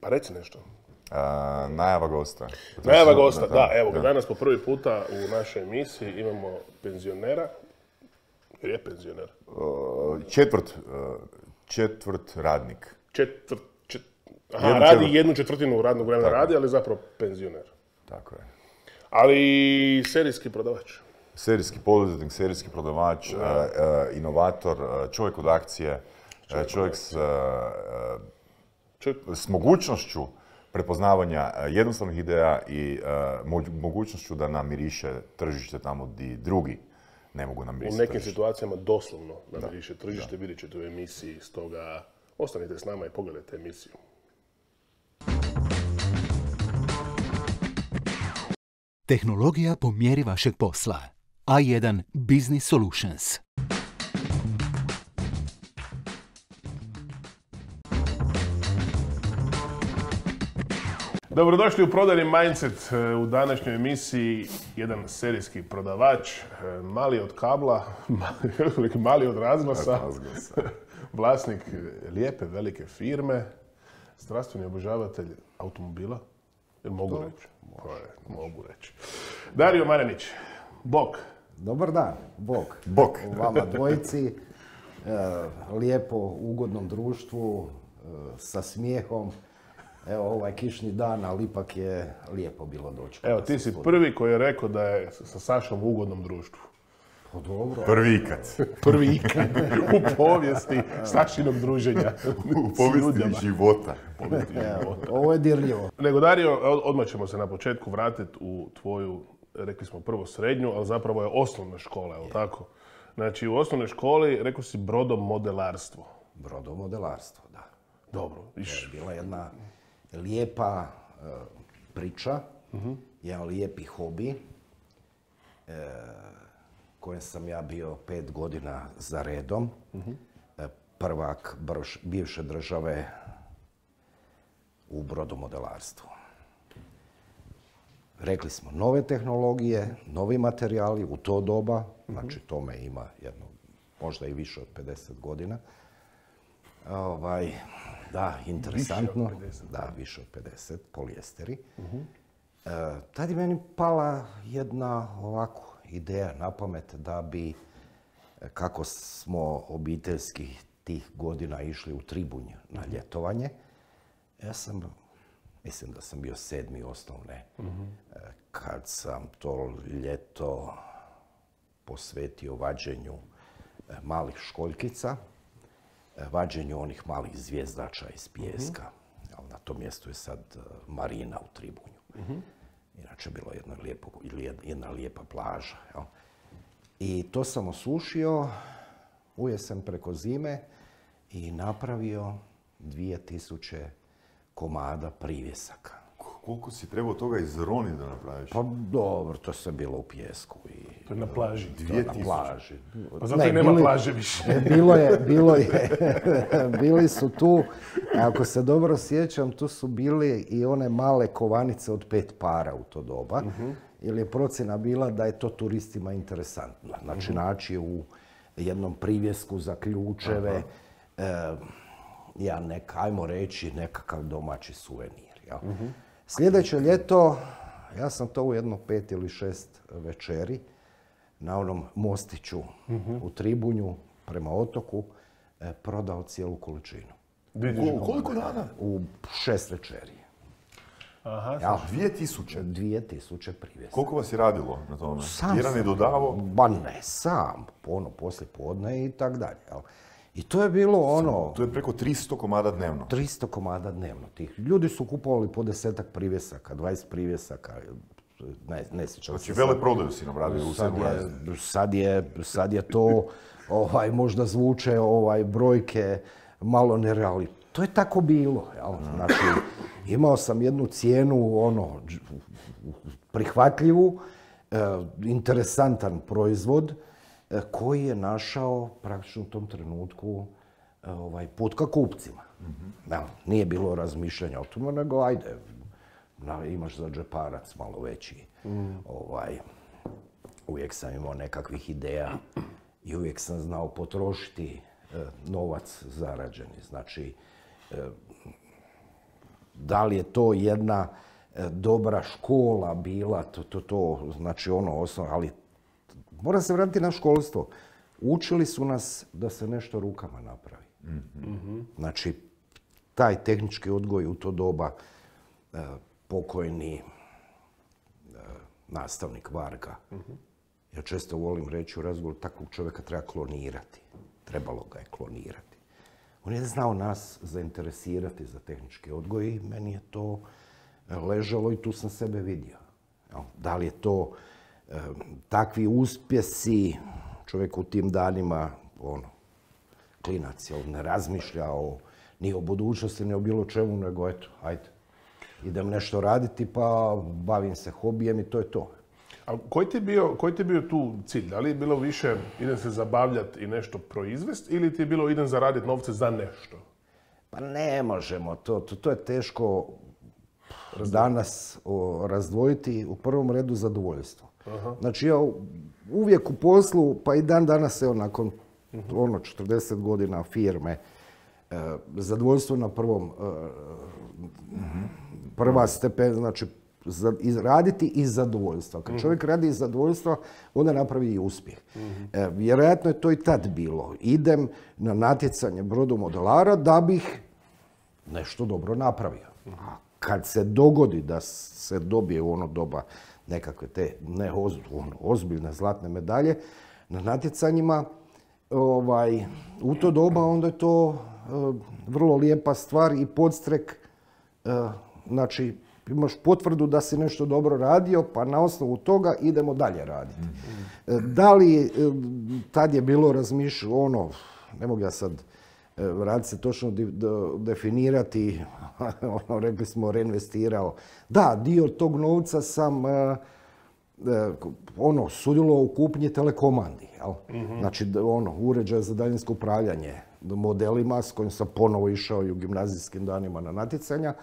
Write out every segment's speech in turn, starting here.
Pa reci nešto. Najava gosta. Najava gosta, da, evo ga, danas po prvi puta u našoj emisiji imamo penzionera. Jer je penzioner. Četvrt radnik. Radi 1/4 radnog vremena radi, ali zapravo penzioner. Tako je. Ali serijski prodavač. Serijski poduzetnik, serijski prodavač, inovator, čovjek od akcije, čovjek s mogućnošću prepoznavanja jednostavnih ideja i mogućnošću da namiriše tržište tamo gdje drugi ne mogu namirisati. U nekim situacijama doslovno namiriše tržište, vidjet ćete u emisiji, stoga ostanite s nama i pogledajte emisiju. Tehnologija po mjeri vašeg posla. A1 Business Solutions. Dobrodošli u Prodajni Mindset. U današnjoj emisiji jedan serijski prodavač, mali od kabla, mali od razglasa, vlasnik lijepe, velike firme, strastveni obožavatelj automobila. Jel mogu reći? Mogu reći. Dario Marenić, bok. Dobar dan, bok. Bok. Vama dvojici, lijepo, ugodnom društvu, sa smijehom. Evo, ovaj kišni dan, ali ipak je lijepo bilo doći. Evo, ti si prvi koji je rekao da je sa Sašom u ugodnom društvu. Pa dobro. Prvi ikad. Prvi ikad u povijesti Sašinog druženja. U povijesti života. Evo, ovo je dirljivo. Nego, Dario, odmah ćemo se na početku vratiti u tvoju, rekli smo prvo srednju, ali zapravo je osnovna škola, je li tako? Znači, u osnovnoj školi, rekao si brodomodelarstvo. Brodomodelarstvo, da. Dobro. Bila jedna lijepa priča, jedan lijepi hobi, kojem sam ja bio 5 godina za redom. Prvak bivše države u brodomodelarstvu. Rekli smo, nove tehnologije, novi materijali u to doba, znači tome ima jedno, možda i više od 50 godina. Da, interesantno. Da, više od 50, polijesteri. Tad je meni pala jedna ovako ideja na pamet da bi, kako smo obiteljski tih godina išli u Tribunj na ljetovanje, ja sam, mislim da sam bio 7. osnovne, kad sam to ljeto posvetio vađenju malih školjkica, vađenju onih malih zvjezdača iz pijeska. Na tom mjestu je sad marina u Tribunju. Inače, bilo je jedna lijepa plaža. I to sam osušio u jesen preko zime i napravio 2000 komada privjesaka. Koliko si trebao toga izroniti da napraviš? Pa dobro, to je bilo u pijesku. To je na plaži. 2000. Na plaži. Pa zato nema plaže više. Bili su tu, ako se dobro sjećam, tu su bili i one male kovanice od 5 para u to doba. Jer je procjena bila da je to turistima interesantno. Znači, naći u jednom privjesku za ključeve, ajmo reći, nekakav domaći suvenir. Sljedeće ljeto, ja sam to u jedno 5 ili 6 večeri na onom mostiću u Tribunju prema otoku prodao cijelu količinu. Koliko dana? U 6 večeri. Aha, 2000? 2000 privjesa. Koliko vas je radilo na tome? Sam Jedan je dodavao? Ba ne, sam. Poslije podne i tak dalje. I to je bilo ono... To je preko 300 komada dnevno. 300 komada dnevno. Tih ljudi su kupovali po 10 privjesaka, 20 privjesaka. Ne sjećam se. Znači, vele prodaju si nam radio u 7. Sad je to, možda zvuče brojke malo nerealni. To je tako bilo. Znači, imao sam jednu cijenu, prihvatljivu, interesantan proizvod, koji je našao praktično u tom trenutku put ka kupcima. Nije bilo razmišljanja o tome, nego ajde, imaš za džeparac malo veći. Uvijek sam imao nekakvih ideja i uvijek sam znao potrošiti novac zarađeni. Znači, Da li je to jedna dobra škola bila, znači ono osnovno, ali mora se vratiti na školstvo. Učili su nas da se nešto rukama napravi. Znači, taj tehnički odgoj u to doba, pokojni nastavnik Varga, ja često volim reći u razgovoru, takvog čovjeka treba klonirati. Trebalo ga je klonirati. On je znao nas zainteresirati za tehnički odgoj i meni je to ležalo i tu sam sebe vidio. Da li je to takvi uspjesi, čovjek u tim danima, klinac, ne razmišlja ni o budućnosti, ni o bilo čemu, nego eto, ajde, idem nešto raditi pa bavim se hobijem i to je to. A koji ti je bio tu cilj? Da li je bilo više idem se zabavljati i nešto proizvesti ili ti je bilo idem zaraditi novce za nešto? Pa ne možemo, to je teško danas razdvojiti, u prvom redu zadovoljstvo. Znači ja uvijek u poslu, pa i dan danas evo nakon 40 godina firme, zadovoljstvo na prva stepen, znači raditi iz zadovoljstva. Kad čovjek radi iz zadovoljstva, onda napravi i uspjeh. Vjerojatno je to i tad bilo. Idem na natjecanje brodomodelara da bih nešto dobro napravio. A kad se dogodi da se dobije u ono doba nekakve te ozbiljne zlatne medalje na natjecanjima, u to doba onda je to vrlo lijepa stvar i podstrek, znači imaš potvrdu da si nešto dobro radio, pa na osnovu toga idemo dalje raditi. Da li tad je bilo razmišljeno, ne mogu ja sad vratiti se točno definirati, rekli smo reinvestirao. Da, dio tog novca sam sudjelovao u kupnji telekomandi. Znači, uređaj za daljinsko upravljanje modelima s kojim sam ponovo išao i u gimnazijskim danima na natjecanja.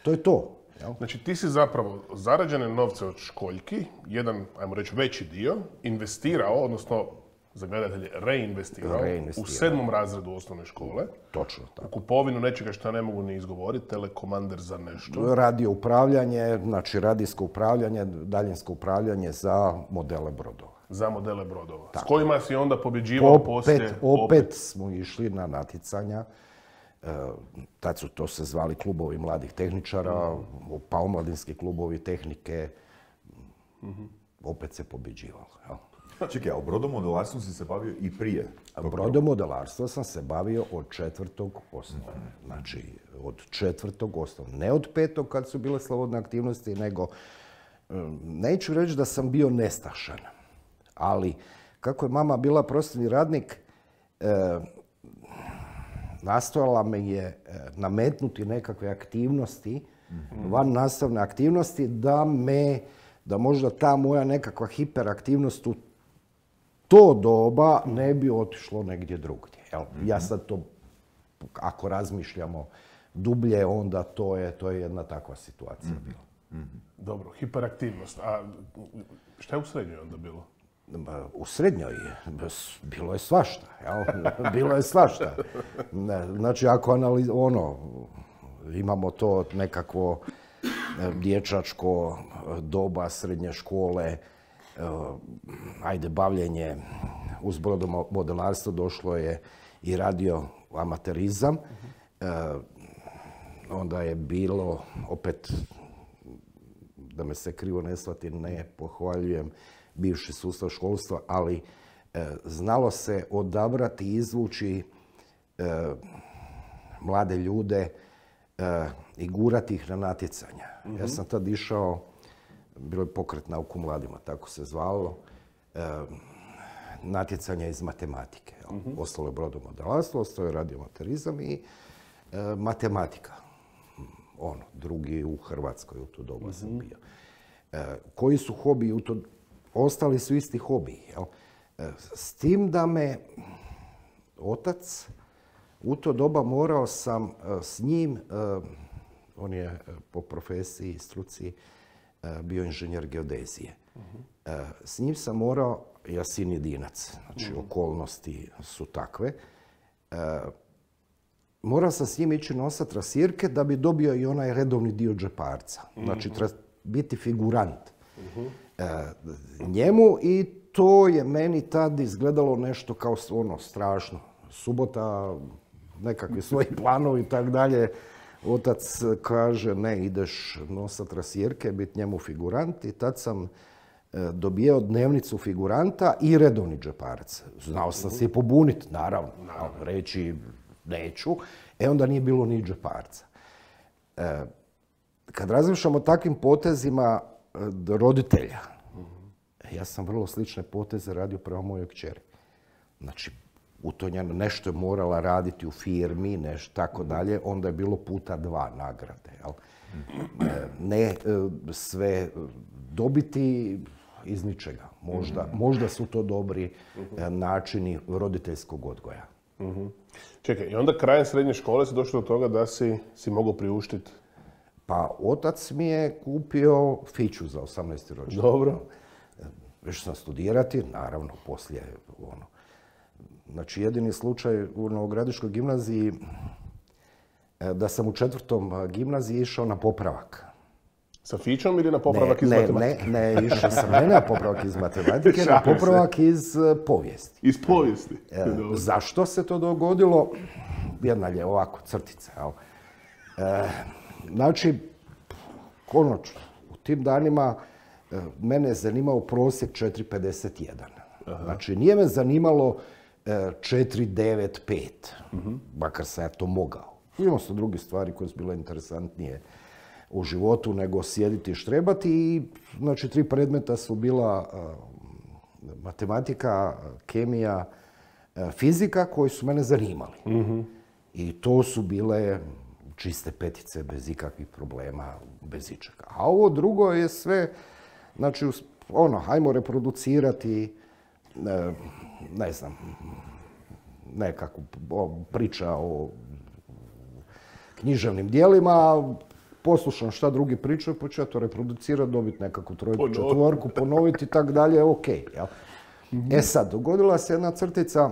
To je to. Znači ti si zapravo zarađene novce od školjki, jedan, ajmo reći, veći dio, investirao, odnosno za gledatelje reinvestirao u 7. razredu osnovne škole. Točno tako. U kupovinu nečega što ne mogu ni izgovoriti, telekomander za nešto. Radio upravljanje, znači radijsko upravljanje, daljinsko upravljanje za modele brodova. Za modele brodova. Tako. S kojima si onda pobjeđivao poslije? Opet smo išli na natjecanja. Tad su to se zvali klubovi mladih tehničara, pa omladinski klubovi tehnike. Opet se pobjeđivalo. Čekaj, a u brodomodelarstvu si se bavio i prije? Brodomodelarstvo sam se bavio od 4. osnovne. Znači, od 4. osnovne. Ne od 5. kad su bile slobodne aktivnosti, nego neću reći da sam bio nestašan. Ali, kako je mama bila prostorni radnik, nastojala me je nametnuti nekakve aktivnosti, van nastavne aktivnosti, da možda ta moja nekakva hiperaktivnost u to doba ne bi otišlo negdje drugdje. Ja sad to, ako razmišljamo dublje, onda to je jedna takva situacija bila. Dobro, hiperaktivnost. A šta je u srednjoj onda bilo? U srednjoj bilo je svašta. Bilo je svašta. Znači, ako imamo to nekakvo dječačko doba srednje škole, bavljenje uz brodomodelarstvo, došlo je i radio amaterizam. Onda je bilo, opet, da me se krivo ne shvati, ne pohvaljujem bivši sustav školstva, ali znalo se odabrati i izvući mlade ljude i gurati ih na natjecanja. Ja sam tad išao, bilo je pokret Nauku mladima, tako se zvalo, natjecanja iz matematike. Ostalo je brodomodelarstvo, ostalo je radioamaterizam i matematika. Drugi u Hrvatskoj u to doba sam bio. Koji su hobiji u to? Ostali su isti hobiji. S tim da me otac u to doba morao sam s njim, on je po profesiji i struci bio inženjer geodezije. S njim sam morao, ja sin jedinac, znači okolnosti su takve, morao sam s njim ići nosati trasirke da bi dobio i onaj redovni dio džeparca. Znači, biti figurant njemu i to je meni tad izgledalo nešto kao ono strašno. Subota, nekakvi svoji planovi i tak dalje. Otac kaže, ne, ideš nosati trasirke, biti njemu figurant i tad sam dobijao dnevnicu figuranta i redovni džeparac. Znao sam se i pobuniti, naravno, reći neću, onda nije bilo ni džeparca. Kad razmišljam o takvim potezima roditelja, ja sam vrlo slične poteze radio prema mojoj kćeri. Znači, nešto je morala raditi u firmi, nešto tako dalje, onda je bilo puta 2 nagrade. Ne sve dobiti iz ničega. Možda su to dobri načini roditeljskog odgoja. Čekaj, i onda krajem srednje škole si došao do toga da si mogao priuštiti? Pa otac mi je kupio fiću za 18. rođendan. Dobro. Išao sam studirati, naravno, poslije ono. Znači, jedini slučaj u Novogradiškoj gimnaziji da sam u 4. gimnaziji išao na popravak. Sa fićom ili na popravak iz matematike? Ne, išao sam ne na popravak iz matematike, na popravak iz povijesti. Iz povijesti? Zašto se to dogodilo? Jedna je ovako crtica. Znači, konačno, u tim danima mene je zanimao prosjek 4,51. Znači, nije me zanimalo 4,95, makar sam ja to mogao. Imao sam druge stvari koje su bile interesantnije u životu nego sjediti i štrebati i znači 3 predmeta su bila matematika, kemija, fizika koji su mene zanimali. I to su bile čiste petice bez ikakvih problema, bez ičega. A ovo drugo je sve, znači hajmo reproducirati, ne znam, nekakvu priča o književnim dijelima, poslušam šta drugi pričaju, pa ću ja to reproducirati, dobiti nekakvu 3, 4, ponoviti i tak dalje, ok. Sad, dogodila se jedna crtica,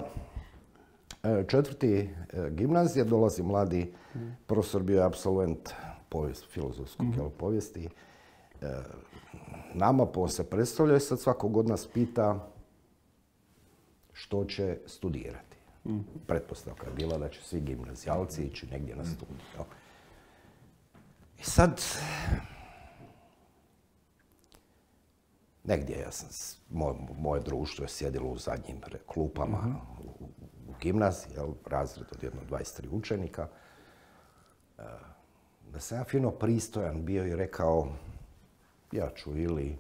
4. gimnazije, dolazi mladi profesor, bio je apsolvent filozofskog povijesti. Nama se predstavlja i sad svakog od nas pita što će studirati. Pretpostavka je bila da će svi gimnazijalci ići negdje na studij. I sad, negdje moje društvo je sjedilo u zadnjim klupama u gimnaziji, razred od jedno 23 učenika. Da sam ja fino pristojan bio i rekao, ja ću ili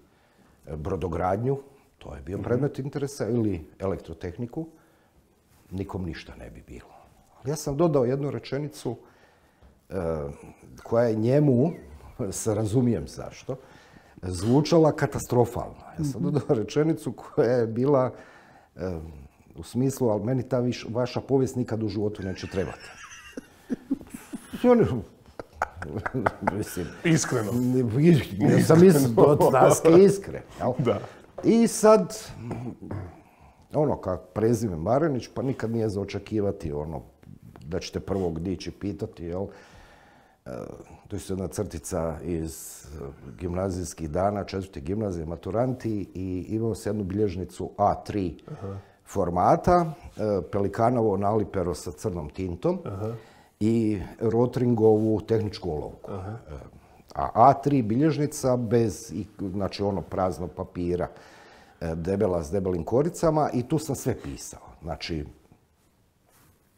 brodogradnju, to je bio predmet interesa, ili elektrotehniku, nikom ništa ne bi bilo. Ali ja sam dodao jednu rečenicu koja je njemu, se razumijem zašto, zvučala katastrofalno. Ja sam dodao rečenicu koja je bila u smislu, ali meni ta vaša povijest nikad u životu neće trebati. Iskreno. Ja sam od daske iskren. I sad, kak prezime Marenić, pa nikad nije za očekivati da ćete prvog dići pitati, to je jedna crtica iz gimnazijskih dana, 4. gimnazije, maturanti, i imao se jednu bilježnicu A3 formata, pelikanovo nalipero sa crnom tintom i Rotringovu tehničku olovku. A A3 bilježnica bez, znači praznog papira, debela s debelim koricama i tu sam sve pisao. Znači,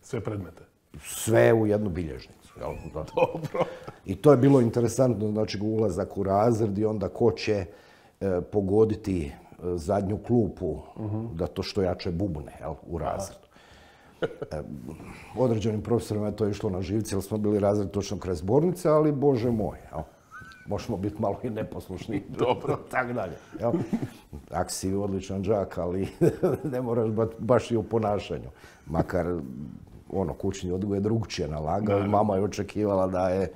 sve predmete? Sve u jednu bilježnicu. Dobro. I to je bilo interesantno, znači ulazak u razred i onda ko će pogoditi zadnju klupu da to što jače bubne u razredu. Određenim profesorima je to išlo na živce, jer smo bili razred točno kraj zbornice, ali bože moj, možemo biti malo i neposlušni. Dobro. Tako dalje. Ako si odličan đak, ali ne moraš baš i u ponašanju. Makar kućni odgoj je drugčije nalagao i mama je očekivala da je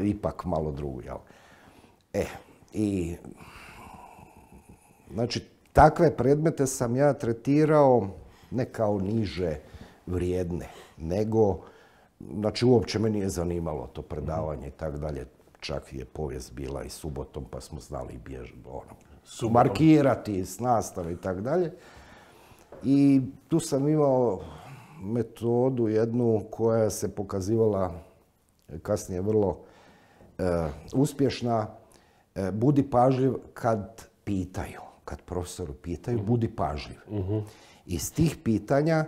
ipak malo drugo. I znači, takve predmete sam ja tretirao ne kao niže vrijedne, nego Znači, uopće me nije zanimalo to predavanje i tako dalje. Čak je povijest bila i subotom, pa smo znali markirati s nastave i tako dalje. I tu sam imao metodu jednu koja se pokazivala kasnije vrlo uspješna. Budi pažljiv kad pitaju, kad profesoru pitaju, budi pažljiv. Iz tih pitanja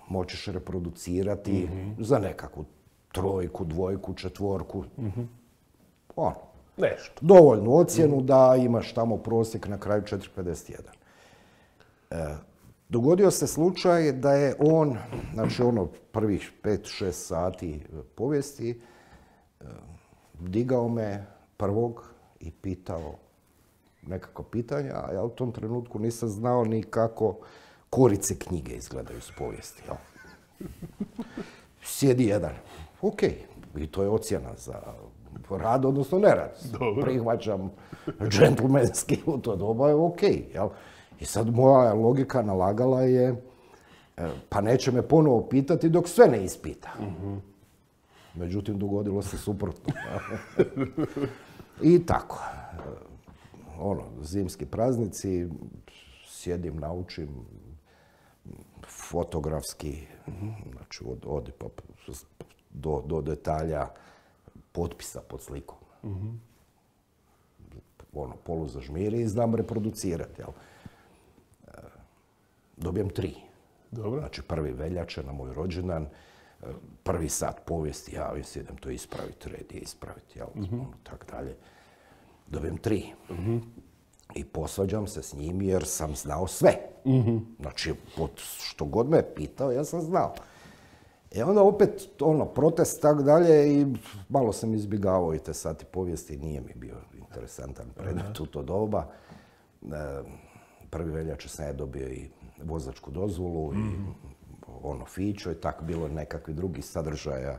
moćeš reproducirati za nekakvu trojku, dvojku, četvorku. Nešto. Dovoljnu ocjenu da imaš tamo prosjek na kraju 4,51. Dogodio se slučaj da je on, znači prvih 5-6 sati povijesti, digao me prvog i pitao nekako pitanja, a ja u tom trenutku nisam znao ni kako korice knjige izgledaju s povijesti. Sjedi jedan. Ok, i to je ocjena za rad, odnosno nerad. Prihvaćam džentlmenski u to doba je ok. I sad moja logika nalagala je, pa neće me ponovo pitati dok sve ne ispita. Međutim, dogodilo se suprotno. I tako. Zimski praznici, sjedim, naučim fotografski, znači do detalja potpisa pod slikom. Poluzažmiri i znam reproducirati. Dobijem 3. Dobro. Znači 1. veljače na moj rođendan, 1. sat povijesti, javim se, idem to ispraviti, red je ispraviti, tak dalje. Dobijem 3. I posvađam se s njim jer sam znao sve. Znači, što god me je pitao, ja sam znao. Onda opet, protest, tak dalje, i malo sam izbjegavao i te sati povijesti, nije mi bio interesantan predmet u to doba. 1. veljače sam je dobio i vozačku dozvolu i fićo i tako bilo nekakvi drugi sadržaja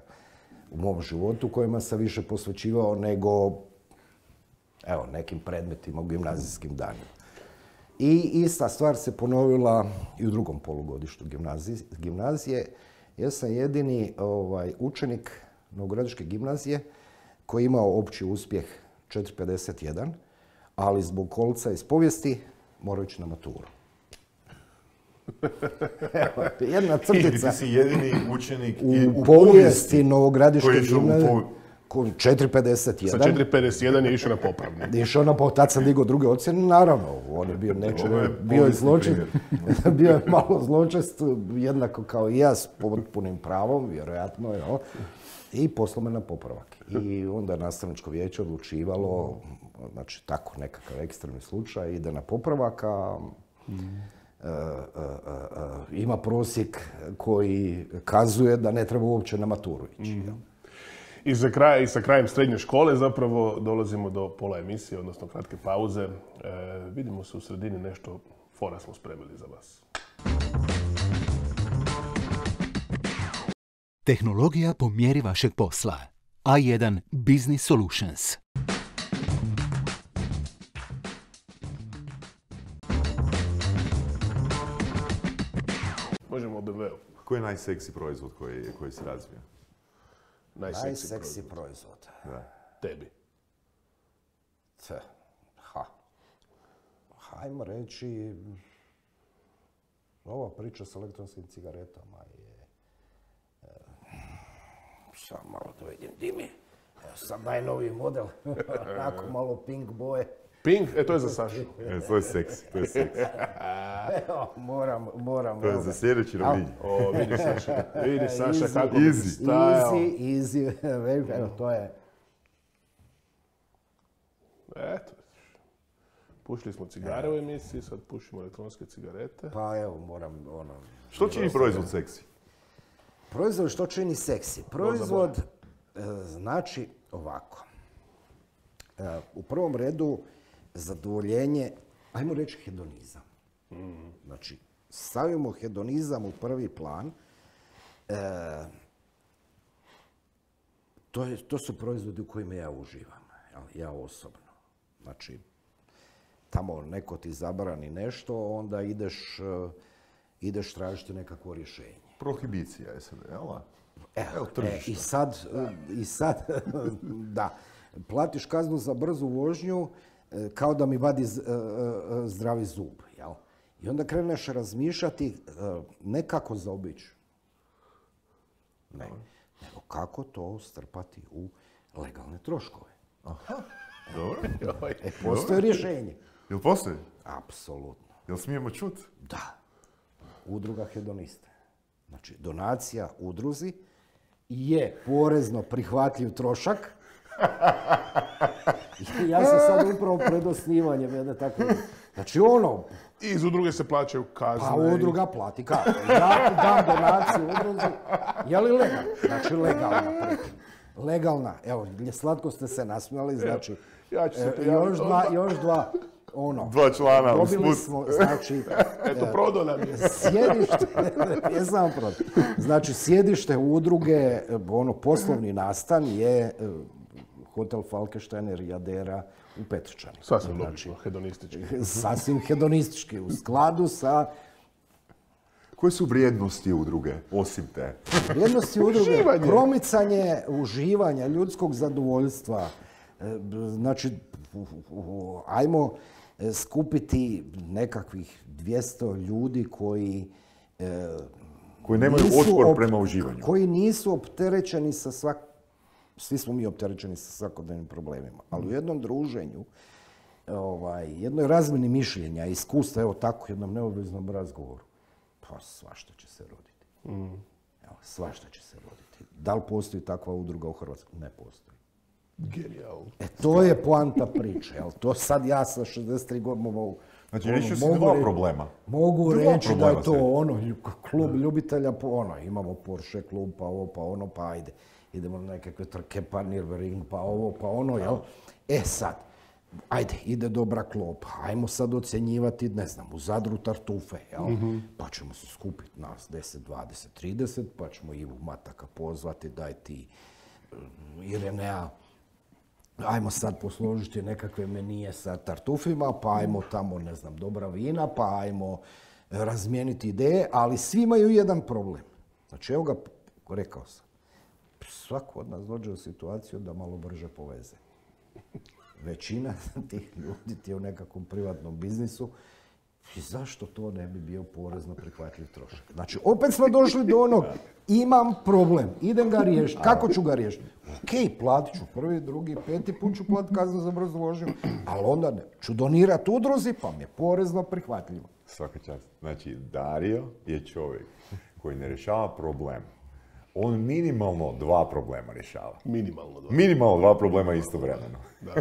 u mom životu kojima sam više posvećivao nego nekim predmetima u gimnazijskim danima. I ista stvar se ponovila i u drugom polugodištu gimnazije. Ja sam jedini učenik Novogradiške gimnazije koji je imao opći uspjeh 4,51, ali zbog kolca iz povijesti morao ići na maturu. Jedna crtica. Ti si jedini učenik u povijesti Novogradiške gimnazije. 4,51. Sa 4,51 je išao na popravni. Tad sam digao druge ocjene, naravno. On je bio zločest. Bio je malo zločest, jednako kao i ja, s potpunim pravom, vjerojatno. I poslao me na popravak. I onda nastavničko vijeće odlučivalo, znači tako nekakav ekstremni slučaj, ide na popravak, a ima prosjek koji kazuje da ne treba uopće na maturu ići. I sa krajem srednje škole zapravo dolazimo do pola emisije, odnosno kratke pauze. Vidimo se u sredini, nešto fora smo spremili za vas. Tehnologija po mjeri vašeg posla. A1 Business Solutions. Možemo o BMW-u. Koji je najseksi proizvod koji se razvija? Najseksi proizvod. Tebi. Hajmo reći, ova priča s elektronskim cigaretama je... Samo malo da vidim di mi. Sad najnoviji model. Onako malo pink boje. Pink? To je za Sašu. To je seksi, to je seksi. Evo, moram. To je za sljedeći ravnji. Vidi Saša kako bi stajao. Easy. Evo, to je... Eto. Pušili smo cigare u emisiji, sad pušimo elektronske cigarete. Pa evo, moram Što čini proizvod seksi? Proizvod što čini seksi? Proizvod znači ovako. U prvom redu zadovoljenje, ajmo reći hedonizam. Znači, stavimo hedonizam u prvi plan. To su proizvodi u kojima ja uživam, ja osobno. Znači, tamo neko ti zabrani nešto, onda ideš tražiti nekakvo rješenje. Prohibicija je sad, jel? I sad, da, platiš kaznu za brzu vožnju kao da mi vadi zdravi zub, jel? I onda kreneš razmišljati ne kako zaobići, ne, nego kako to strpati u legalne troškove. Dobro. Postoje rješenje. Jel postoji? Apsolutno. Jel smijemo čut? Da. Udruga hedoniste. Znači, donacija udruzi je porezno prihvatljiv trošak. Ja sam sad upravo pred osnivanjem jedne takve. Znači, I iz udruge se plaćaju kazne. Pa udruga plati kazne. Ja dam donaciju udruzi. Je li legalna? Znači, legalna. Legalna. Evo, slatko ste se nasmijali, znači, Ja ću se još dva, Dva člana dobili smo, znači, Eto, prodao nam je. sjedište, jesam prodao. Znači, sjedište udruge, poslovni nastan je hotel Falkensteiner Jadera u Petrčani. Sasvim logično, hedonistički. Sasvim hedonistički, u skladu sa... Koje su vrijednosti udruge, osim te? Vrijednosti udruge, promicanje uživanja, ljudskog zadovoljstva. Znači, ajmo skupiti nekakvih 200 ljudi koji nemaju otpor prema uživanju. Koji nisu opterećeni sa svi smo mi opterećeni sa svakodnevnim problemima, ali u jednom druženju, jednoj razmjeni mišljenja, iskustva, evo tako, jednom neobveznom razgovoru, pa svašta će se roditi. Evo, svašta će se roditi. Da li postoji takva udruga u Hrvatskoj? Ne postoji. Genijalno. To je poanta priče. To sad ja sa 63 godine mogu... Znači, riješio si dva problema. Mogu reći da je to klub ljubitelja, imamo Porsche klub, pa ovo, pa ono, pa ajde. Idemo na nekakve trke, pa Nürburgring, pa ovo, pa ono, jel? Sad, ajde, ide dobra klopa, ajmo sad ocjenjivati, ne znam, u Zadru tartufe, jel? Pa ćemo se skupiti nas 10, 20, 30, pa ćemo Ivu Mataka pozvati, daj ti Irenea, ajmo sad posložiti nekakve menije sa tartufima, pa ajmo tamo, ne znam, dobra vina, pa ajmo razmijeniti ideje, ali svi imaju jedan problem. Znači, evo ga, rekao sam, svako od nas dođe u situaciju da malo brže poveze. Većina tih ljudi ti je u nekakvom privatnom biznisu i zašto to ne bi bio porezno prihvatljiv trošak? Znači, opet smo došli do onog, imam problem, idem ga riješiti, kako ću ga riješiti? Ok, platit ću prvi, drugi, peti put ću platiti kaznu za brzu vožnju, ali onda ću donirati udruzi pa mi je porezno prihvatljivo. Svaka čast. Znači, Dario je čovjek koji ne rješava problem. On minimalno 2 problema rješava. Minimalno 2. Minimalno 2 problema istovremeno. Da.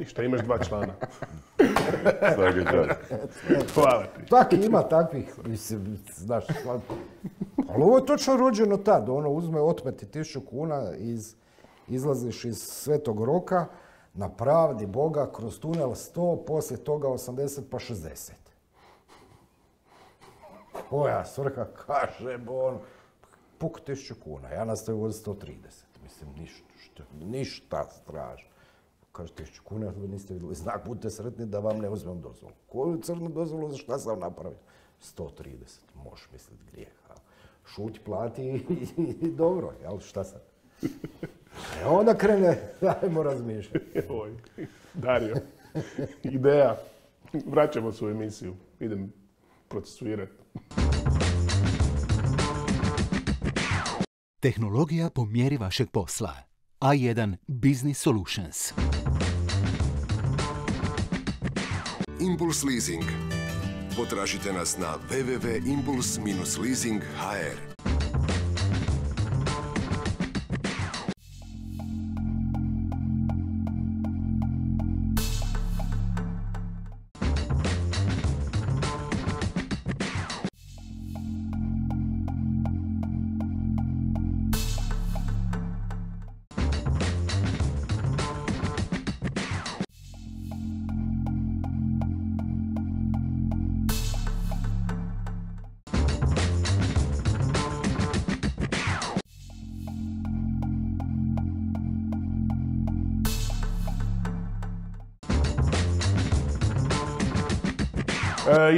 I šta imaš 2 člana. Svaka čast. Hvala ti. Tak ima takvih, mislim, znaš, ali ovo je točno rođeno tad, uzme otmeti 1000 kuna, izlaziš iz Svetog Roka, na pravdi Boga, kroz tunel 100, poslije toga 80 pa 60. Koja svrha kaže, puk 1000 kuna, ja nastavim voziti 130, mislim, ništa strašno. Kaže, 1000 kuna, vi niste vidjeli znak, budite sretni da vam ne uzmem dozvolu. Koju crnu dozvolu, za šta sam napravio? 130, možeš misliti grijeh. Šuti, plati i dobro, jel, šta sad? Onda krene, ajmo razmišljati. Dario, ideja, vraćamo se u emisiju, idem procesuirati. Tehnologija po mjeri vašeg posla. A1 Business Solutions. Impuls Leasing. Potražite nas na www.impuls-leasing.hr.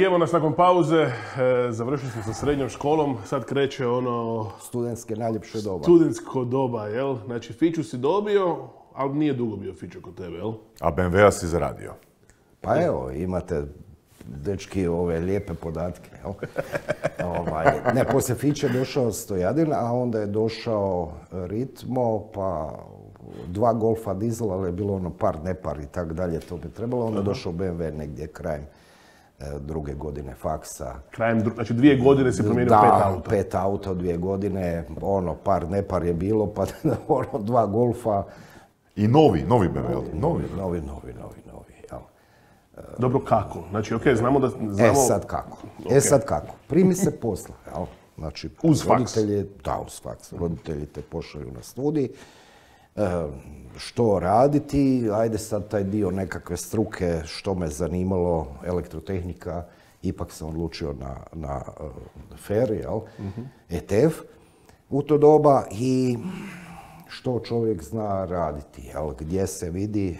Evo nas nakon pauze, završili smo sa srednjom školom, sad kreće ono... Studentske najljepše doba. Studentsko doba, jel? Znači, fiću si dobio, ali nije dugo bio fiću kod tebe, jel? A BMW-a si zaradio. Pa evo, imate, dečki, ove lijepe podatke, jel? Ne, poslije fiće je došao Stojadin, a onda je došao Ritmo, pa 2 Golfa dizel, ali je bilo ono par, nepar i tak dalje, to bi trebalo. Onda je došao BMW negdje krajem 2. godine faksa. Znači 2 godine si promijenio 5 auta. Da, 5 auta u 2 godine, ono, par, nepar je bilo, pa ono, 2 Golfa. I novi BMW. Novi, jel? Dobro, kako? Znači, okej, znamo da... Sad kako? Sad kako? Primi se posla, jel? Znači, uz faks? Da, uz faks. Roditelji te pošalju na studij. Što raditi? Ajde sad taj dio nekakve struke, što me zanimalo, elektrotehnika, ipak sam odlučio na FER, jel? ETF u to doba i što čovjek zna raditi, jel? Gdje se vidi,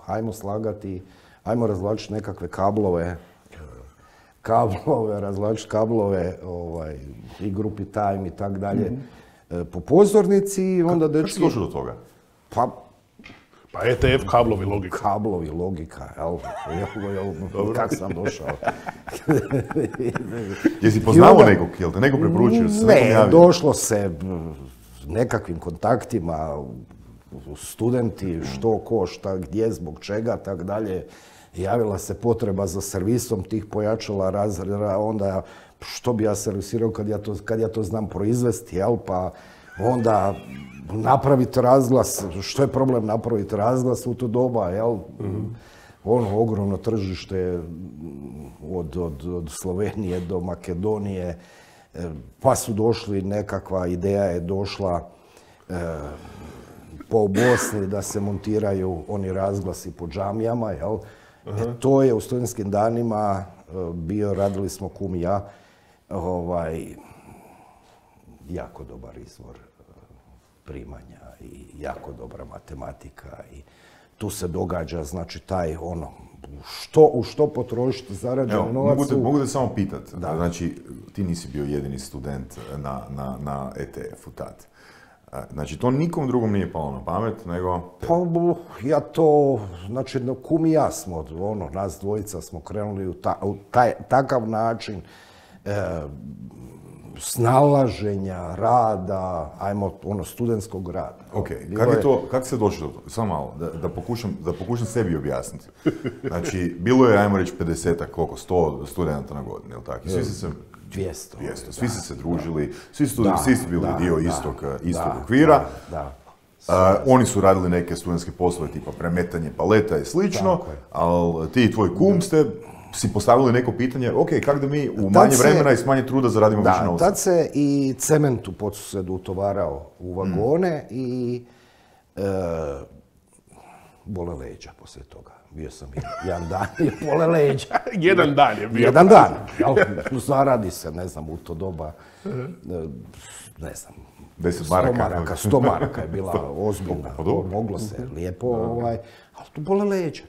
hajmo slagati, hajmo razvlačiti nekakve kablove, razvlačiti kablove, i grupi time i tak dalje, po pozornici i onda dečki... Kako si došao do toga? Pa ETF, kablovi, logika. Kablovi, logika, jel? Kako sam došao? Jesi poznao nekog, jel te neko preporučio? Ne, došlo se nekakvim kontaktima, studenti, što, ko, šta, gdje, zbog čega, tak dalje. Javila se potreba za servisom tih pojačala razreda, onda što bi ja servisirao kad ja to znam proizvesti, jel? Pa onda napraviti razglas, što je problem napraviti razglas u to doba, jel? Ono ogromno tržište od Slovenije do Makedonije, pa su došli, nekakva ideja je došla po Bosni da se montiraju oni razglasi po džamijama, jel? To je u studentskim danima bio, radili smo kum i ja, jako dobar izvor primanja i jako dobra matematika i tu se događa, znači, taj ono, u što potrošiti zarađen novac. Mogu da samo pitat, znači, ti nisi bio jedini student na ETF-u tad. Znači, to nikom drugom nije palo na pamet, nego... Pa, ja to, znači, kum i ja smo, ono, nas dvojica smo krenuli u takav način snalaženja, rada, ajmo, ono, studentskog rada. Ok, kako se došlo do toga? Samo malo, da pokušam sebi objasniti. Znači, bilo je, ajmo reći, 50-ak, koliko, 100 studenta na godinu, jel' tako? Svi su se... 200. Svi su se družili, svi su bili dio istog okvira. Oni su radili neke studentske poslove, tipa premetanje paleta i slično, ali ti i tvoj kum ste si postavili neko pitanje, ok, kako da mi u manje vremena i s manje truda zaradimo više novca? Tad se i cement u Podsusedu utovarao u vagone i bole leđa poslije toga. Bio sam jedan dan i bole leđa. Jedan dan je bio. Jedan dan. Zaradi se, ne znam, u to doba, ne znam, 100 maraka je bila ozbiljna. Moglo se lijepo, ali tu bole leđa.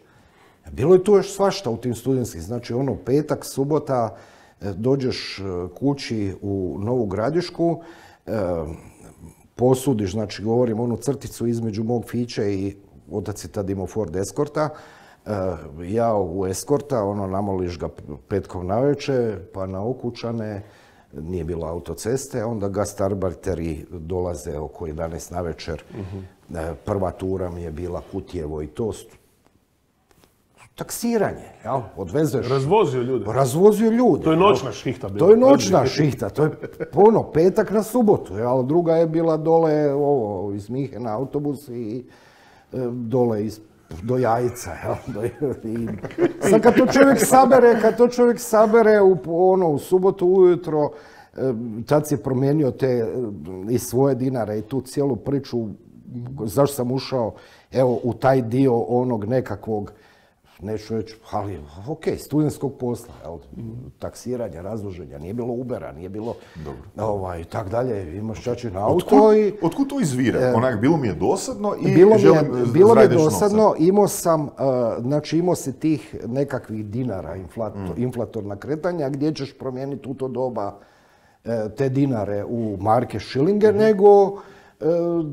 Bilo je tu još svašta u tim studentskim. Znači, ono, petak, subota, dođeš kući u Novu Gradišku, posudiš, znači, govorim, onu crticu između mog fiće i otac je tad imao Ford Escorta, ja u Escorta, ono, namoliš ga petkom navečer, pa na Okučane, nije bilo autoceste, onda ga starbarteri dolaze oko 11 navečer. Prva tura mi je bila Kutjevo i to taksiranje, jel? Odvezeš... Razvozio ljude. To je noćna šihta bila. To je noćna šihta, to je petak na subotu, jel? Druga je bila dole, iz Mihena autobus i dole do Jajica, jel? Sad kad to čovjek sabere u subotu ujutro, tad si promijenio i svoje dinare i tu cijelu priču, zašto sam ušao, evo, u taj dio onog nekakvog neću reći, ali ok, studentskog posla, taksiranja, razloženja, nije bilo Ubera, nije bilo tak dalje, imaš čačin auto i... Otkud to izvire? Onak, bilo mi je dosadno i bilo mi je dosadno, imao si tih nekakvih dinara, inflatorna kretanja, gdje ćeš promijeniti u to doba te dinare u marke, šilinge, nego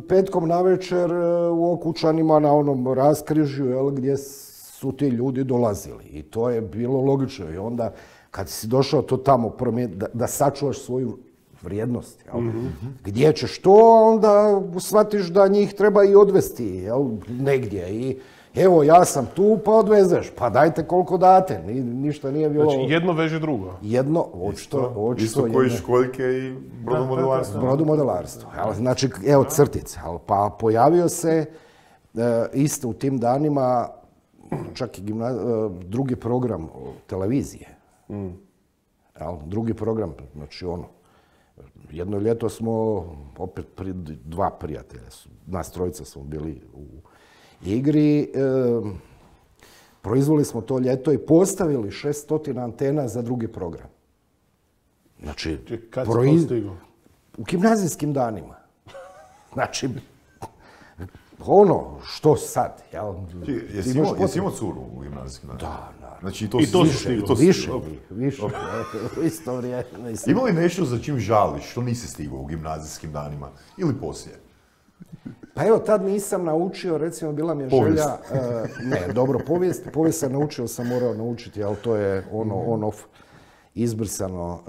petkom navečer u Okučanima na onom raskrižju, gdje su ti ljudi dolazili. I to je bilo logično. I onda, kad si došao to tamo promijeniti, da sačuvaš svoju vrijednost, gdje ćeš to, onda shvatiš da njih treba i odvesti negdje. I evo, ja sam tu, pa odvezeš. Pa dajte koliko date. Ništa nije bilo... Znači, jedno veže drugo. Jedno, očito. Isto koji školjke i brodomodelarstvo. Brodomodelarstvo. Znači, evo crtice. Pa pojavio se isto u tim danima čak i drugi program nas drugi program, znači jedno ljeto smo, opet dva prijatelja, nas trojica smo bili u igri, proizveli smo to ljeto i postavili 600 antena za drugi program. Znači, kad si to stigao? U gimnazijskim danima. Znači, što sad, jel? Jesi imao curu u gimnazijskim danima? Da, naravno. Znači, više. U isto vrijeme. Ima li nešto za čim žališ, što nisi stigao u gimnazijskim danima ili poslije? Pa evo, tad nisam naučio, recimo, bila mi je želja... Povijest sam naučio, sam morao naučiti, ali to je on-off izbrisano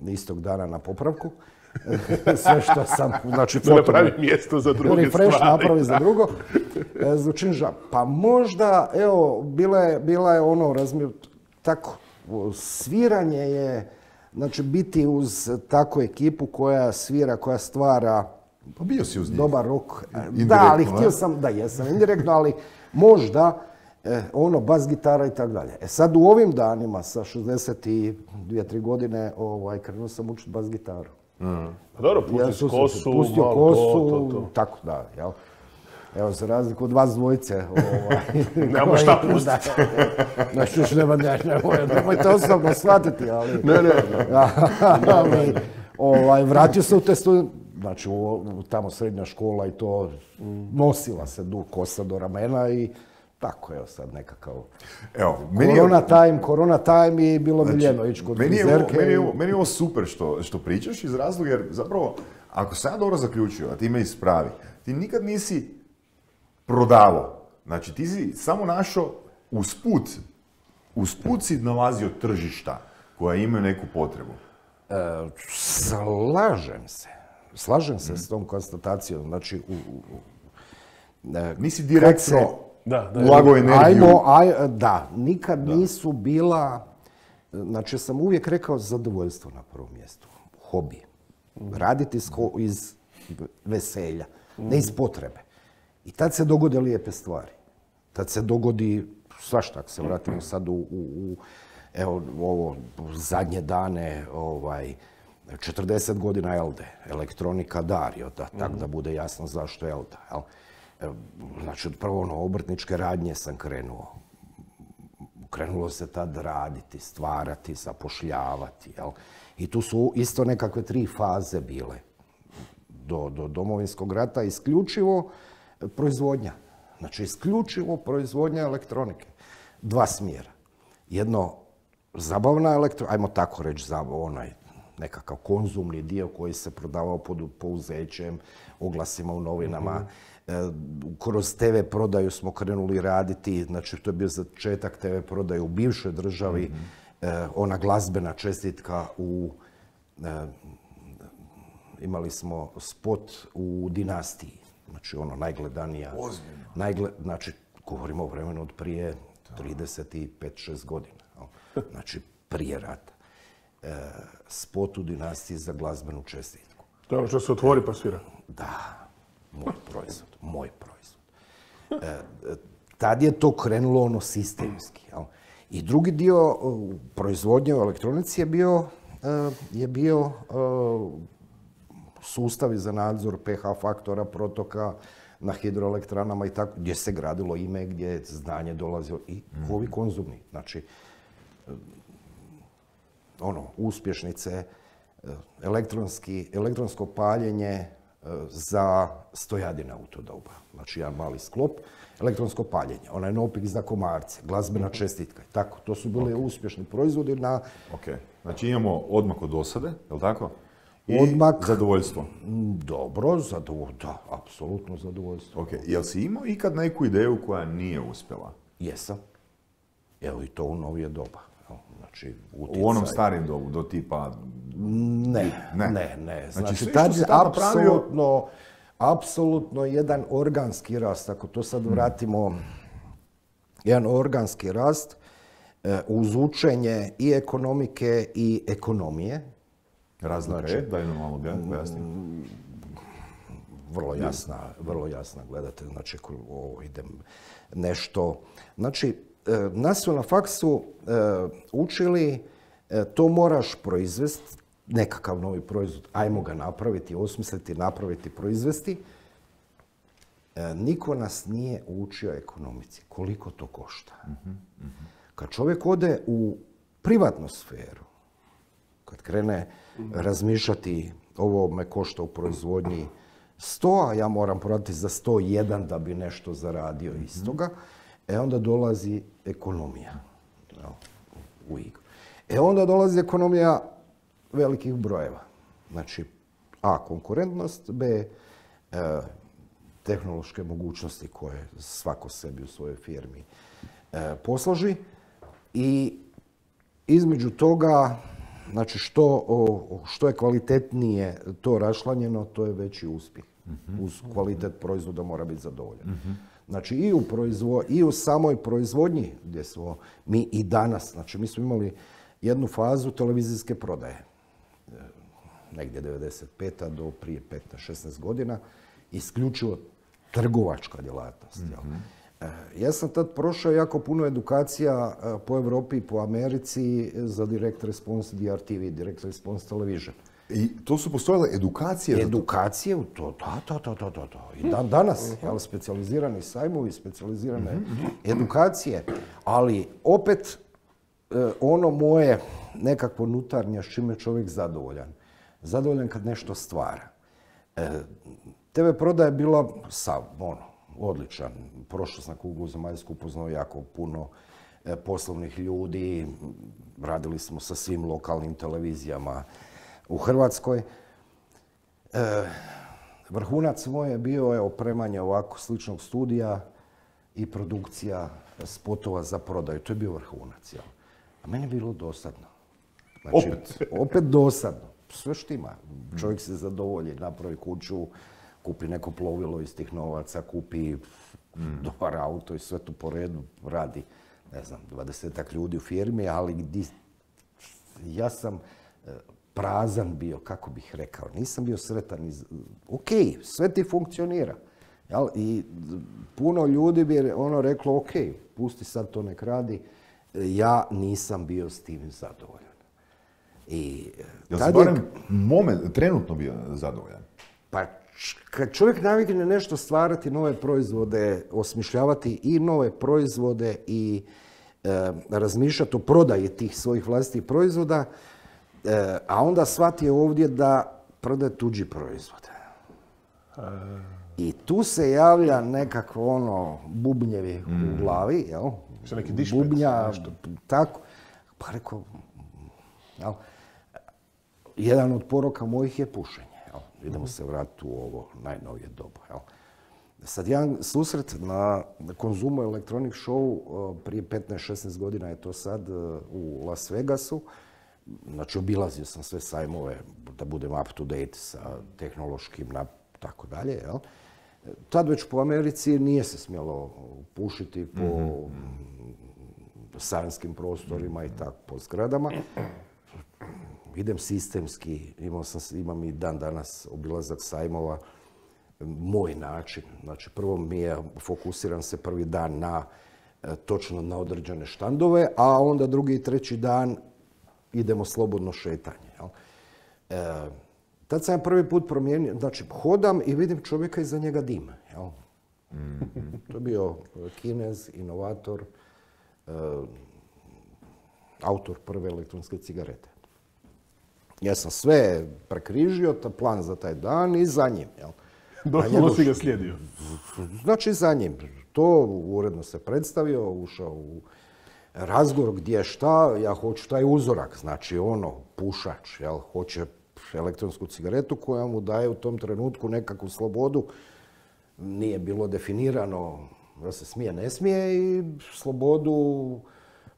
istog dana na popravku. Sve što sam, znači... Da napravi mjesto za druge stvari. Refresh napravi za drugo. Pa možda, evo, bila je tako, sviranje je, znači, biti uz takvu ekipu koja svira, koja stvara... Pa bio si uz njih. Dobar rock. Da, ali htio sam, jesam indirektno, ali možda bas gitara i tako dalje. Sad u ovim danima, sa 62-3 godine, krenuo sam učiti bas gitaru. Pa dobro, pustio kosu, tako da, jel? Evo, za razliku od vas dvojice. Nemamo šta pustiti. Znači, nemojte osobno shvatiti, ali... Vratio se u te studije, znači, tamo srednja škola i to, nosila se kosa do ramena i tako, evo sad nekakav... Korona time i bilo miljeno ići kod frizerke. Meni je ovo super što pričaš iz razloga, jer zapravo, ako sam ja dobro zaključio, a ti me ispravi, ti nikad nisi prodavao. Znači, ti si samo našao usput si nalazio tržišta koja imaju neku potrebu. Slažem se s tom konstatacijom. Znači, nisi direktno ulagao energiju. Nikad nisu bila, znači sam uvijek rekao zadovoljstvo na prvom mjestu, hobi. Raditi iz veselja, ne iz potrebe. I tad se dogode lijepe stvari. Tad se dogodi svašta, ako se vratimo sad evo, ovo zadnje dane, 40 godina Elde, elektronika Dario, tako da bude jasno zašto Elda. Znači, od prvo obrtničke radnje sam krenuo. Krenulo se tad raditi, stvarati, zapošljavati. I tu su isto nekakve 3 faze bile. Do Domovinskog rata isključivo proizvodnja. Znači, isključivo proizvodnja elektronike. 2 smjera. Jedno, zabavna elektronika, ajmo tako reći, nekakav konzumni dio koji se prodavao pod pouzećem, oglasima u novinama. Kroz TV prodaju smo krenuli raditi, znači to je bio začetak TV prodaje u bivšoj državi, ona glazbena čestitka imali smo spot u Dinastiji, znači najgledanija. Ozbiljno. Znači, govorimo o vremenu od prije 35-6 godina, znači prije rata. Spot u Dinastiji za glazbenu čestitku. To je ono što se otvori pa svira. Da, moj proizvod. Tad je to krenulo sistemski. I drugi dio proizvodnje u elektronici je bio sustavi za nadzor pH faktora, protoka, na hidroelektranama i tako, gdje se gradilo ime, gdje je znanje dolazilo i ovi konzumni. Znači, uspješnice, elektronsko paljenje za stojadine u to doba. Znači, jedan mali sklop, elektronsko paljenje, onaj nopik za komarce, glazbena čestitka i tako. To su bili uspješni proizvodi na... Ok, znači imamo odmak od dosade, je li tako? I odmak, zadovoljstvo. Dobro, da, apsolutno zadovoljstvo. Ok, jel si imao ikad neku ideju koja nije uspjela? Jesam. Evo i to u novije doba. Znači, utjecaj... U onom starim dobu, do tipa... Ne. Znači, tad je apsolutno jedan organski rast. Ako to sad vratimo, jedan organski rast uz učenje i ekonomike i ekonomije. Razlika je, daj nam malo pojasnim. Vrlo jasna, gledate, znači, idem nešto... Znači, nas su na faksu učili, to moraš proizvesti, nekakav novi proizvod, ajmo ga napraviti, osmisliti, napraviti, proizvesti. Niko nas nije učio ekonomici, koliko to košta. Kad čovjek ode u privatnu sferu, kad krene razmišljati, ovo me košta u proizvodnji 100, a ja moram prodati za 101 da bi nešto zaradio iz toga, onda dolazi ekonomija u igru. Onda dolazi ekonomija velikih brojeva. Znači, A, konkurentnost, B, tehnološke mogućnosti koje svako sebi u svojoj firmi posloži i između toga, znači, što je kvalitetnije to rašlanjeno, to je veći uspjeh. Uz kvalitet proizvoda mora biti zadovoljan. Znači, i u samoj proizvodnji, gdje smo mi i danas, znači, mi smo imali jednu fazu televizijske prodaje, negdje 95. do prije 15-16 godina, isključivo trgovačka djelatnost. Ja sam tad prošao jako puno edukacija po Europi i po Americi za direct response DRTV, direct response television. I to su postojale edukacije? Edukacije u to, da. I danas, specijalizirani sajmovi, specijalizirane edukacije, ali opet ono moje nekakvo nutarnje s čime je čovjek zadovoljan. Zadovoljan kad nešto stvara. TV prodaja je bila odličan. Prošao sam kuglu zemaljsku, upoznao jako puno poslovnih ljudi. Radili smo sa svim lokalnim televizijama u Hrvatskoj. Vrhunac moj je bio opremanje ovako sličnog studija i produkcija spotova za prodaju. To je bio vrhunac. A meni je bilo dosadno. Znači, opet dosadno. Sve štima. Čovjek se zadovolji, napravi kuću, kupi neko plovilo iz tih novaca, kupi dobar auto i sve to po redu radi, 20-ak ljudi u firmi, ali ja sam prazan bio, kako bih rekao. Nisam bio sretan. Ok, sve ti funkcionira. I puno ljudi bi reklo, ok, pusti sad to nek radi. Ja nisam bio s tim zadovoljan. Jel si barem trenutno bio zadovoljan? Pa kad čovjek navikne nešto stvarati, nove proizvode, osmišljavati i nove proizvode i razmišljati o prodaji tih svojih vlastitih proizvoda, a onda shvati ovdje da prodaje tuđi proizvod. I tu se javlja nekakvo bubnjevi u glavi, jel? Neki dišpet, bubnja, tako. Pa rekao, jel? Jedan od poroka mojih je pušenje. Idemo se vratiti u ovo najnovije dobu. Sad jedan susret na Konzumu Electronic Show prije 15-16 godina je to sad u Las Vegasu. Znači, obilazio sam sve sajmove da budem up to date sa tehnološkim tako dalje. Tad već po Americi nije se smjelo pušiti po sajmskim prostorima i tako po zgradama. Idem sistemski, imam i dan danas obilazak sajmova, moj način. Znači, prvo fokusiram se prvi dan točno na određene štandove, a onda drugi i treći dan idemo slobodno šetanje. Tad sam prvi put promijenio, znači hodam i vidim čovjeka iza njega dim. To je bio Kinez, inovator, autor prve elektronske cigarete. Ja sam sve prekrižio, plan za taj dan i za njim. Doslovno si ga slijedio. Znači za njim. To uredno se predstavio, ušao u razgovor gdje šta, ja hoću taj uzorak, znači pušač, hoće elektronsku cigaretu koja mu daje u tom trenutku nekakvu slobodu. Nije bilo definirano da se smije, ne smije i slobodu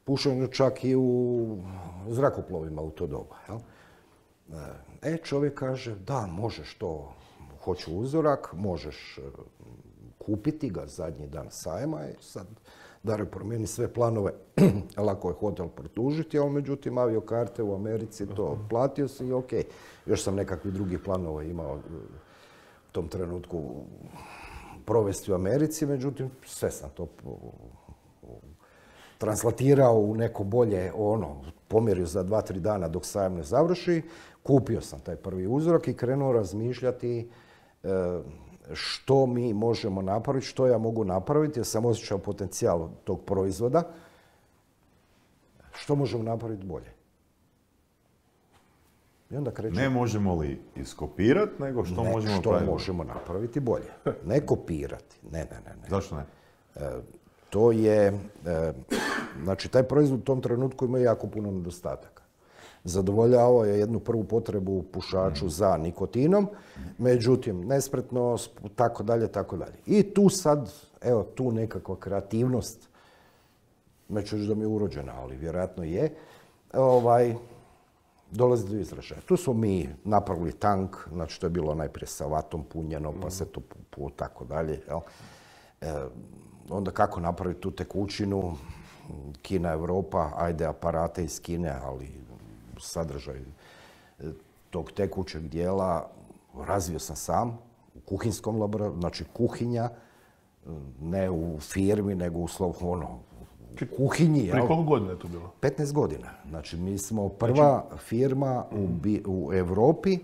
pušenja čak i u zrakoplovima u to doba. Čovjek kaže, da, možeš to, hoću uzorak, možeš kupiti ga zadnji dan sajma i sad Dario promijeni sve planove, lako je hotel produžiti, ali međutim aviokarte u Americi to platio si i ok. Još sam nekakvih drugih planova imao u tom trenutku provesti u Americi, međutim sve sam to translatirao u neko bolje, pomjerio za 2-3 dana dok sajam ne završi, kupio sam taj prvi uzorak i krenuo razmišljati što mi možemo napraviti, što ja mogu napraviti, jer sam osjećao potencijal tog proizvoda, što možemo napraviti bolje. I onda krećemo. Ne možemo li iskopirati, nego što možemo napraviti? Što možemo napraviti bolje. Ne kopirati. Ne. Zašto ne? To je, znači taj proizvod u tom trenutku ima jako puno nedostataka. Zadovoljavao je jednu prvu potrebu u pušaču za nikotinom, međutim, nespretnost, tako dalje. I tu sad, tu nekakva kreativnost, neću reći da mi je urođena, ali vjerojatno je, dolazi do izražaja. Tu smo mi napravili tank, znači to je bilo najprije sa vatom punjeno, pa se to tako dalje. Onda kako napraviti tu tekućinu, Kina, Europa, ajde aparate iz Kine, ali sadržaj tog tekućeg dijela razvio sam sam u kuhinskom laboratoriju, znači kuhinja, ne u firmi, nego u kuhinji. Prije koliko godina je to bilo? 15 godina. Znači, mi smo prva firma u Europi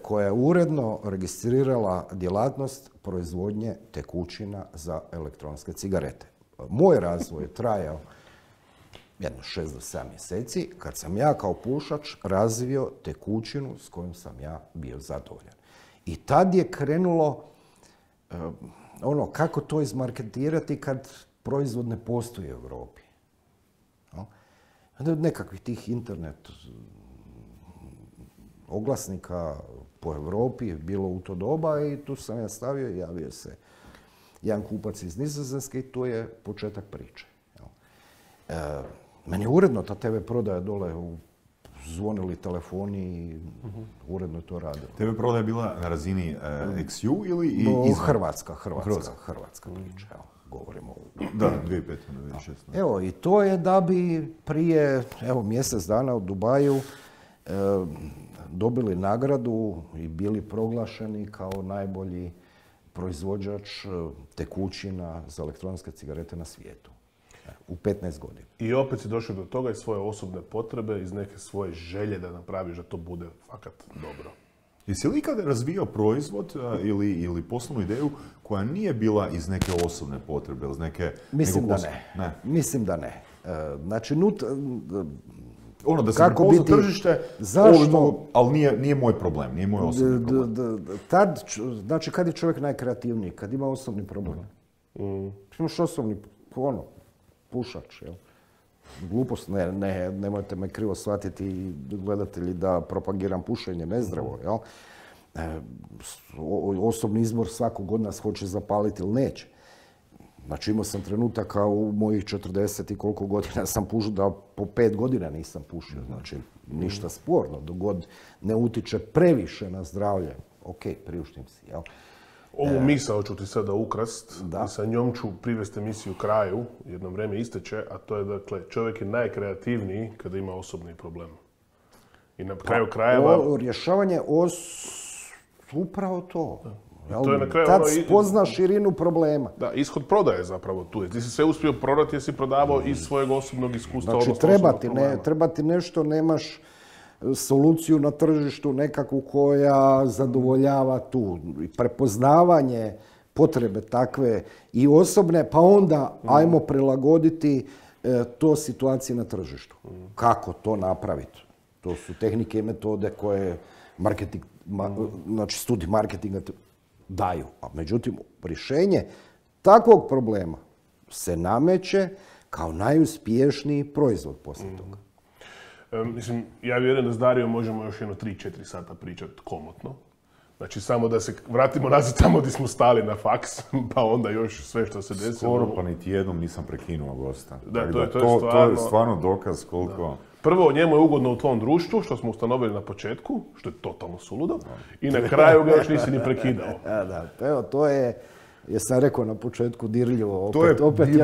koja je uredno registrirala djelatnost proizvodnje tekućina za elektronske cigarete. Moj razvoj je trajao jedno 6 do 7 mjeseci, kad sam ja kao pušač razvio tekućinu s kojom sam ja bio zadovoljan. I tad je krenulo kako to izmarketirati kad proizvod ne postoji u Europi. Onda od nekakvih tih internet oglasnika po Europi je bilo u to doba i tu sam ja stavio i javio se jedan kupac iz Nizozemske i tu je početak priče. Meni je uredno ta TV prodaja dole zvonili telefoni i uredno je to radilo. TV prodaja je bila na razini XU ili izvan? Hrvatska priča. Govorimo. Da, 2005. 2016. Evo, i to je da bi prije, mjesec dana u Dubaju dobili nagradu i bili proglašeni kao najbolji proizvođač tekućina za elektronske cigarete na svijetu. U 15 godina. I opet si došao do toga iz svoje osobne potrebe, iz neke svoje želje da napraviš da to bude fakat dobro. Jesi li ikada razvijao proizvod ili poslovnu ideju koja nije bila iz neke osobne potrebe, iz neke... Mislim da ne. Mislim da ne. Znači, da se prepozna tržište, ali nije moj problem, nije moj osobni problem. Znači, kad je čovjek najkreativniji? Kad ima osobni problem. Imaš osobni, pušač, jel? Glupost, nemojte me krivo shvatiti gledatelji da propagiram pušenje, nezdravo, jel? Osobni izbor svakog od nas hoće zapaliti ili neće. Znači imao sam trenutaka u mojih 40 i koliko godina sam pušio, da po 5 godina nisam pušio, znači ništa sporno, dok god ne utiče previše na zdravlje, ok, priuštim si, jel? Ovu misao ću ti sada ukrast i sa njom ću privesti emisiju kraju, jedno vrijeme isteče, a to je dakle, čovjek je najkreativniji kada ima osobni problem. I na kraju krajeva... Rješavanje upravo to. Tad spozna širinu problema. Da, ishod prodaje zapravo tu. Ti si sve uspio prodati jer si prodavao iz svojeg osobnog iskustva. Znači, treba ti nešto, nemaš soluciju na tržištu nekakvu koja zadovoljava tu. Prepoznavanje potrebe takve i osobne, pa onda ajmo prilagoditi to situaciji na tržištu. Kako to napraviti? To su tehnike i metode koje marketing, znači studij marketinga daju. A međutim, rješenje takvog problema se nameće kao najuspješniji proizvod poslije toga. Mislim, ja vjerujem da s Darijom možemo još jedno 3-4 sata pričati komotno. Znači, samo da se vratimo nazad tamo gdje smo stali na faks, pa onda još sve što se desilo. Skoro pa niti jednom nisam prekinuo gosta. Da, to je stvarno dokaz koliko... Da. Prvo, njemu je ugodno u tvom društvu, što smo ustanovili na početku, što je totalno suludo, i na kraju ga još nisi ni prekidao. Da, evo, to je, jesam rekao na početku, dirljivo. Opet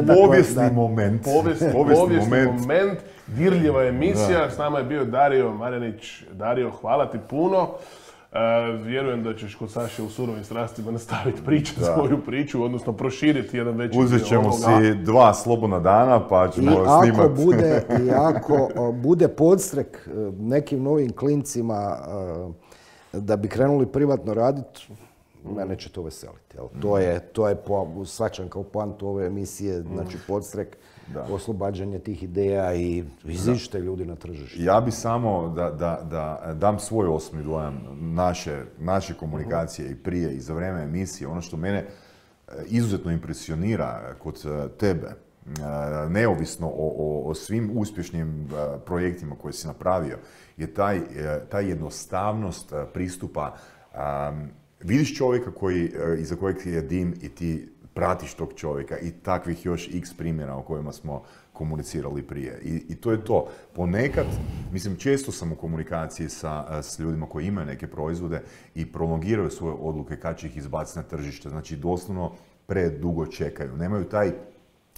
povijesni moment. Povijesni moment, dirljiva emisija. S nama je bio Dario Marjanić. Dario, hvala ti puno. Vjerujem da ćeš kod Saše u Surovim strastima nastaviti pričati svoju priču, odnosno proširiti jedan veći dio. Uzet ćemo si 2 slobodna dana pa ćemo snimati. I ako bude podstrek nekim novim klincima da bi krenuli privatno raditi, mene će to veseliti. To je svačan kao poantu ove emisije, znači podstrek, oslobađanje tih ideja i iziđite ljudi na tržište. Ja bi samo da dam svoj osobni dojam naše komunikacije i prije i za vrijeme emisije. Ono što mene izuzetno impresionira kod tebe, neovisno o svim uspješnim projektima koje si napravio, je ta jednostavnost pristupa. Vidiš čovjeka iza kojeg je dim i ti pratiš tog čovjeka i takvih još x primjera o kojima smo komunicirali prije. I to je to. Ponekad, mislim, često sam u komunikaciji s ljudima koji imaju neke proizvode i prolongiraju svoje odluke kad će ih izbaciti na tržište. Znači, doslovno predugo čekaju. Nemaju taj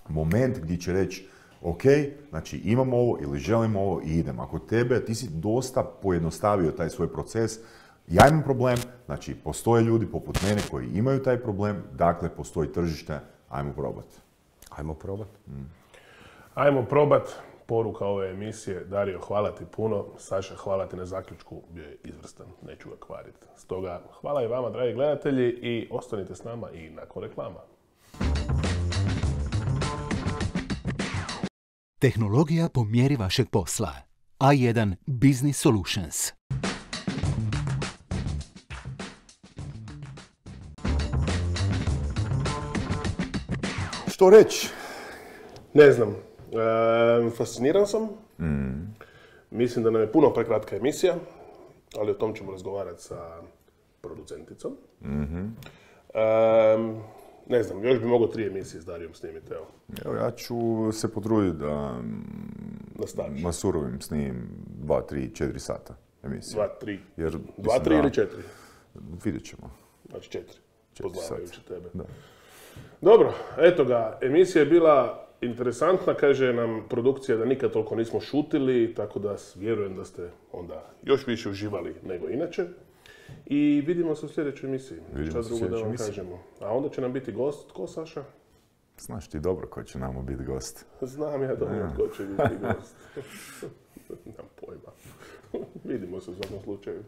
moment gdje će reći ok, znači imam ovo ili želim ovo i idem. Ako tebe, ti si dosta pojednostavio taj svoj proces. Ja imam problem, znači postoje ljudi poput mene koji imaju taj problem, dakle postoji tržište, ajmo probati. Ajmo probati. Ajmo probati. Poruka ove emisije. Dario, hvala ti puno. Saša, hvala ti na zaključku. Bio je izvrstan, neću ga kvariti. Stoga, hvala i vama, dragi gledatelji, i ostanite s nama i nakon reklama. Tehnologija po mjeri vašeg posla. A1 Business Solutions. Što reći? Ne znam. Fasciniran sam. Mislim da nam je puno prekratka emisija, ali o tom ćemo razgovarati sa producenticom. Ne znam, još bi mogao 3 emisije s Darijom snimiti, evo. Evo, ja ću se potruditi da na Surovim snimim 2, 3, 4 sata emisije. 2, 3 ili 4? Vidjet ćemo. Znači 4, poznavajući tebe. Da. Dobro, eto ga, emisija je bila interesantna, kaže nam produkcija da nikad toliko nismo šutili, tako da vjerujem da ste onda još više uživali nego inače. I vidimo se u sljedećoj emisiji. Šta drugo da vam kažemo. A onda će nam biti gost, ko, Saša? Znaš ti dobro ko će nam biti gost. Znam ja dobro ko će biti gost. Nemam pojma. Vidimo se u svakom slučaju.